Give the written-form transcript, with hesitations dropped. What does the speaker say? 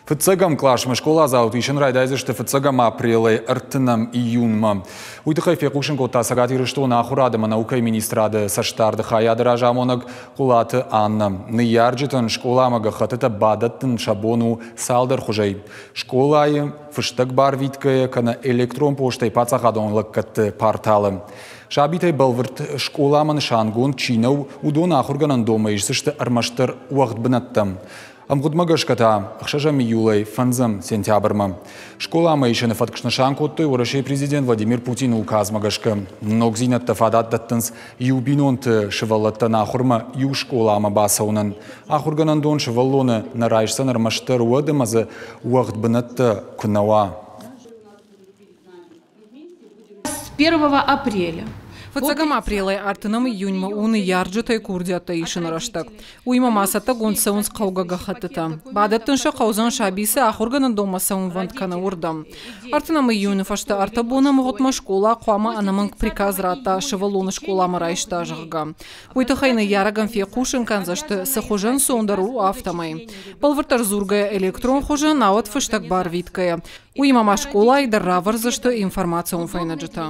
Фыццӕгӕм къласмӕ скъоладзауты исын райдайдзысты фыццӕгӕм апрелӕй ӕртынӕм июнмӕ. Уый тыххӕй фехъусын кодта Цӕгат Ирыстоны ахуырад ӕмӕ наукӕйы министрады цӕстдарды хайады разамонӕг Хъуылаты Аннӕ. Ныййарджытӕн скъоламӕ гӕххӕттытӕ бадӕттын сӕ бон у цалдӕр хуызӕй. Скъолайы, фыстӕг барвитгӕйӕ кӕнӕ электрон постӕй паддзахадон лӕггӕдты порталы. Сабитӕй бӕлвырд скъоламӕ нысангонд чи нӕу, уыдон ахуыргӕнӕндонмӕ исдзысты ӕрмӕстдӕр уӕгъд бынӕттӕм. Ӕмгъуыдмӕ гӕсгӕ та 6 июлӕй 5 сентябрмӕ. Скъоламӕ исыны фӕтк снысан кодтой Уӕрӕсейы президент Владимир Путины указмӕ гӕсгӕ. Ногдзинӕдтӕ фадат дӕттынц иу бинонты сывӕллӕттӕн ахуырмӕ иу скъоламӕ бацӕуынӕн. Ахуыргӕнӕндон сывӕллоны нӕ райсдзӕн ӕрмӕстдӕр уӕд ӕмӕ дзы уӕгъд бынӕттӕ куы нӕ уа. С 1 апреля. Фыццӕгӕм апрелӕй ӕртынӕм июньмӕ у ныййарджытӕй курдиӕттӕ исыны рӕстӕг. Уыимӕ ма цӕттӕгонд цӕуынц хъӕугӕ гӕххӕттытӕ. Бадӕттын сӕ хъӕудзӕн саби цы ахуыргӕнӕндонмӕ цӕуынвӕнд кӕны, уырдӕм. Ӕртынӕм июны фӕстӕ ӕртӕ боны ӕмгъуыдмӕ скъола хъуамӕ ӕнӕмӕнг приказ радта сывӕллоны скъоламӕ райста, зӕгъгӕ. Уый тыххӕй ныййарӕгӕн фехъусын кӕндзысты, цы хуызӕн цондӕр у, афтӕмӕй. Бӕлвырддӕр дзургӕйӕ электрон хуызы, науӕд фыстӕг барвитгӕйӕ. Уыимӕ ма скъолайы дӕр равӕрдзысты информацион фӕйнӕджытӕ.